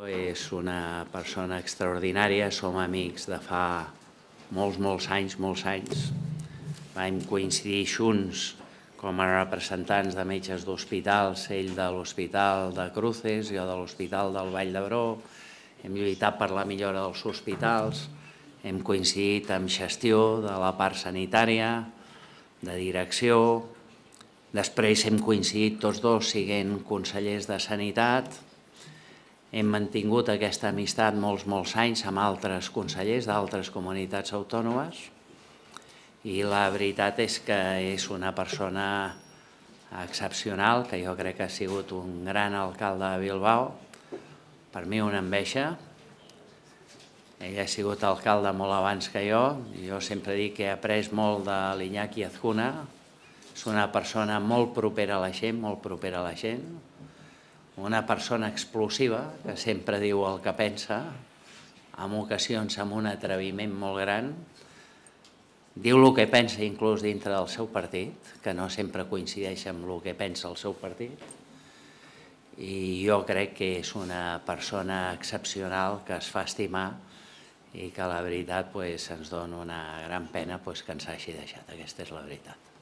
És una persona extraordinària, som amics de fa molts anys. Vam coincidir junts com a representants de metges d'hospitals, ell de l'Hospital de Cruces, jo de l'Hospital del Vall d'Hebron. Hem lluitat per la millora dels hospitals, hem coincidit en gestió de la part sanitària, de direcció. Després hem coincidit tots dos sent consellers de Sanitat. Hem mantingut aquesta amistat molts anys amb altres consellers d'altres comunitats autònomes i la veritat és que és una persona excepcional, que jo crec que ha sigut un gran alcalde de Bilbao, per mi una enveja. Ell ha sigut alcalde molt abans que jo sempre dic que he après molt de l'Iñaki Azcuna, és una persona molt propera a la gent, una persona explosiva, que sempre diu el que pensa, en ocasions amb un atreviment molt gran, diu el que pensa inclús dintre del seu partit, que no sempre coincideix amb el que pensa el seu partit, i jo crec que és una persona excepcional que es fa estimar i que la veritat ens dona una gran pena que ens hagi deixat, aquesta és la veritat.